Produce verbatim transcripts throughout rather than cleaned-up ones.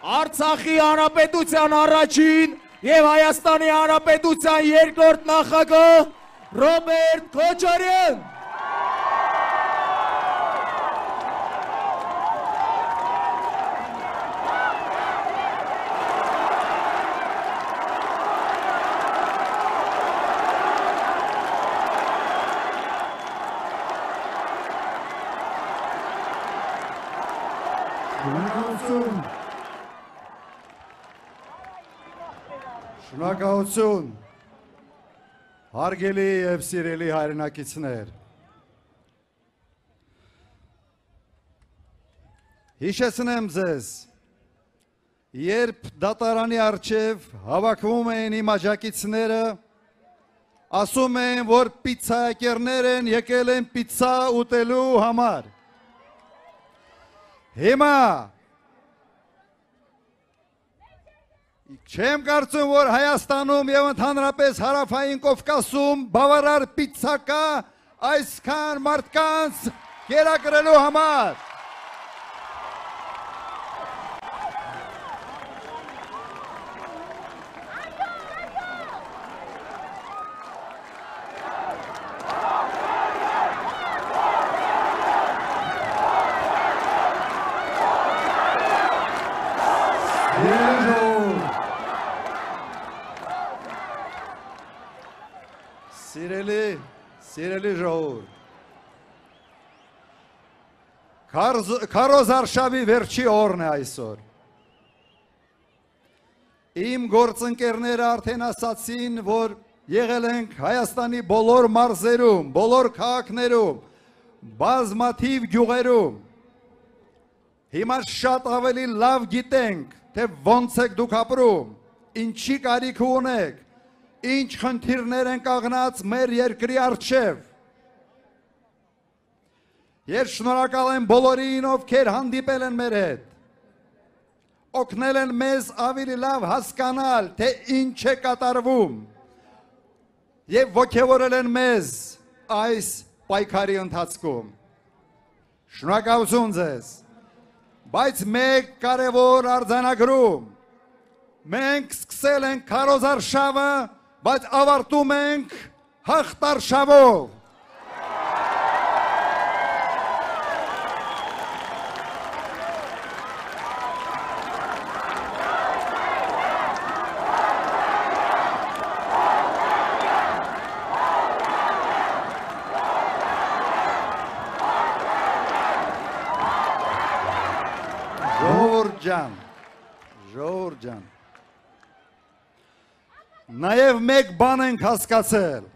Արցախի հանրապետության առաջին եւ Հայաստանի հանրապետության երկրորդ նախագահ Ռոբերտ Քոչարյան։ Շնորհակալություն։ Շնորհակալություն։ Հարգելի եւ սիրելի հայրենակիցներ։ Հիշեցնեմ ձեզ, երբ դատարանի առջև հավաքվում էին իմ աջակիցները, ասում էին, որ պիցցայակերներ են եկել են պիցցա ուտելու համար։ Հիմա չեմ կարծում, որ Հայաստանում եւ ընդհանրապես Հարավային Կովկասում բավարար պիցցա կա այսքան մարդկանց կերակրելու համար։ Սիրելի, սիրելի ժողովուրդ, Քարոզ Արշավի վերջի օրն է այսօր։ Իմ գործընկերները արդեն ասացին, որ եղել ենք Հայաստանի բոլոր մարզերում, բոլոր քաղաքներում, բազմաթիվ գյուղերում։ Հիմա շատ ավելի լավ գիտենք, թե ոնց եք դուք ապրում, ինչի կարիք ունեք, ինչ խնդիրներ են կանգնած մեր երկրի առջև։ Ես շնորհակալ եմ բոլորին, ովքեր հանդիպել են մեր հետ, օգնել են մեզ ավելի լավ հասկանալ, թե ինչ է կատարվում եւ ոգևորել են մեզ այս պայքարի ընթացքում։ Շնորհակալություն ձեզ։ Բայց մեկ կարևոր արձանագրում, մենք սկսել ենք Քարոզ Արշավը, բայց ավարտում ենք հաղթարշավով։ Ժողովուրդ ջան, ժողովուրդ ջան, նաև մեկ բան ենք հասկացել,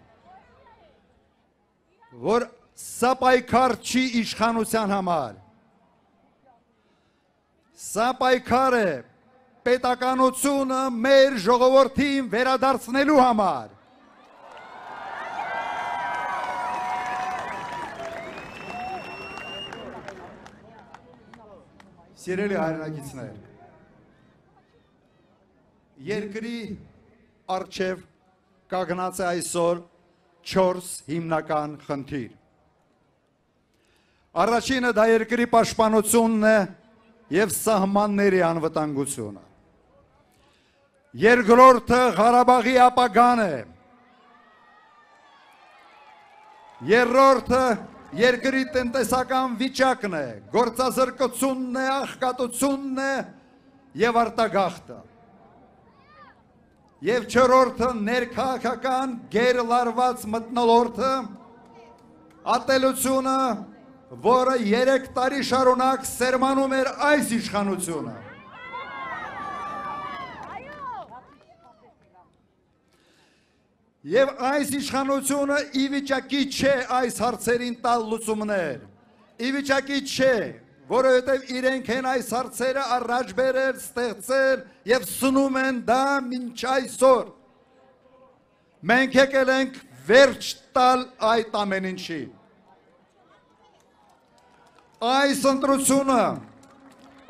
որ սա պայքար չի իշխանության համար, սա պայքար է պետականությունը մեր ժողովրդին վերադարձնելու համար։ Սիրելի հայրենակիցներ, երկրի առջև կանգնած է այսօր չորս հիմնական խնդիր։ Առաջինը դա երկրի պաշտպանությունն է եւ սահմանների անվտանգությունը։ Երկրորդը Ղարաբաղի ապագան է։ Երրորդը երկրի տնտեսական վիճակն է, գործազրկությունն է, աղքատությունն է եւ արտագաղթը։ Եվ չորրորդը ներքաղաքական գերլարված մթնոլորտը, ատելությունը, որը երեք տարի շարունակ սերմանում էր այս իշխանությունը։ Եվ այս իշխանությունը ի վիճակի չէ այս հարցերին տալ լուծումներ, ի վիճակի չէ, որովհետև իրենք են այս հարցերը առաջ բերել, ստեղծել եւ սնում են դա մինչ այսօր։ Մենք եկել ենք վերջ տալ այդ ամեն ինչի։ Այս ընտրությունը,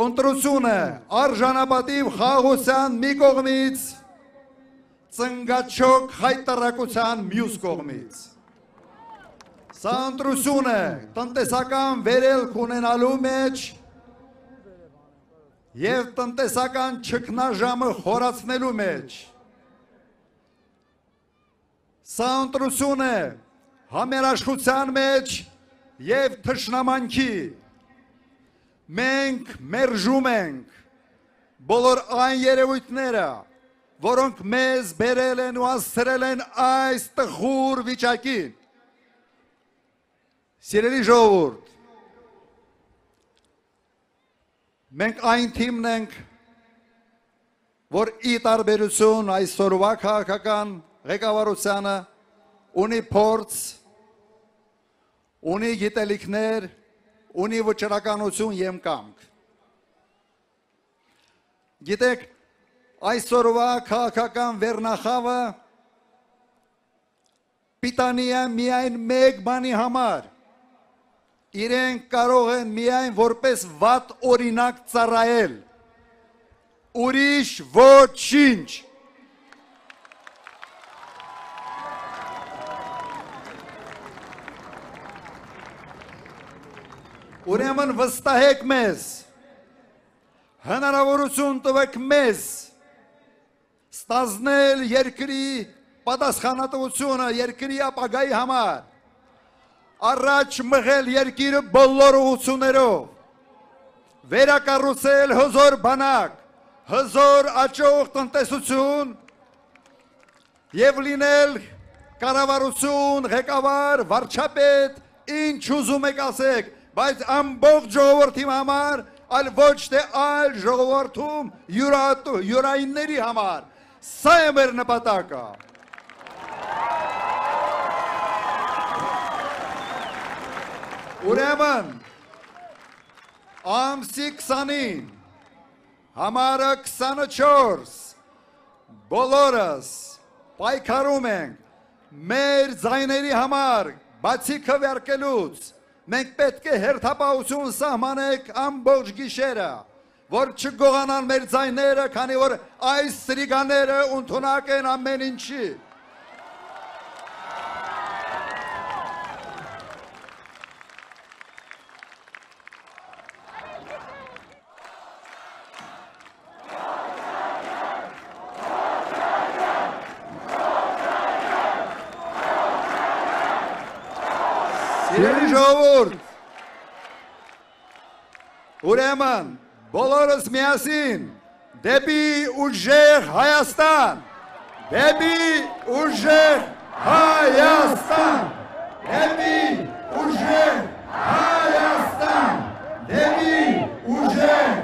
ընտրությունը արժանապատիվ խաղաղության մի կողմից, ծնգաչոք հայտարարության մյուս կողմից։ Սա ընտրություն է տնտեսական վերելք ունենալու մեջ եւ տնտեսական ճգնաժամը խորացնելու մեջ։ Սա ընտրություն է համերաշխության մեջ եւ թշնամանքի։ Մենք մերժում ենք բոլոր այն երևույթները, որոնք մեզ բերել են ու հասցրել են այս տխուր վիճակին։ Սիրելի ժողովուրդ, մենք այն թիմն ենք, որ ի տարբերություն այսօրվա քաղաքական ղեկավարությանը ունի փորձ, ունի գիտելիքներ, ունի վճռականություն եւ կամք։ Գիտեք, այսօրվա քաղաքական վերնախավը պիտանի է միայն մեկ բանի համար։ Իրենք կարող են միայն որպես վատ օրինակ ծառայել, ուրիշ ոչինչ։ Ուրեմն վստահեք մեզ, հնարավորություն տվեք մեզ ստանձնել երկրի պատասխանատվությունը երկրի ապագայի համար, առաջ մղել երկիրը բոլոր ուղղություններով, վերակառուցել հզոր բանակ, հզոր աճող տնտեսություն եւ լինել կառավարություն, ղեկավար, վարչապետ, ինչ ուզում եք ասեք, բայց ամբողջ ժողովրդի համար, այլ ոչ թե այլ ժողովրդում յուրայինների համար։ Սա է մեր նպատակը։ Ուրեմն ամսի քսանին համարը քսանչորս բոլորս պայքարում ենք մեր ձայների համար, բացի քվեարկելուց, մենք պետք է հերթապահություն սահմանենք ամբողջ գիշերը, որ չգողանան մեր ձայները, քանի որ այս սրիգաները ընդունակ են ամեն ինչի։ Սիրելի ժողովուրդ, ուրեմն բոլորս միասին դեպի ուժեղ Հայաստան, դեպի ուժեղ Հայաստան, դեպի ուժեղ Հայաստան, դեպի ուժեղ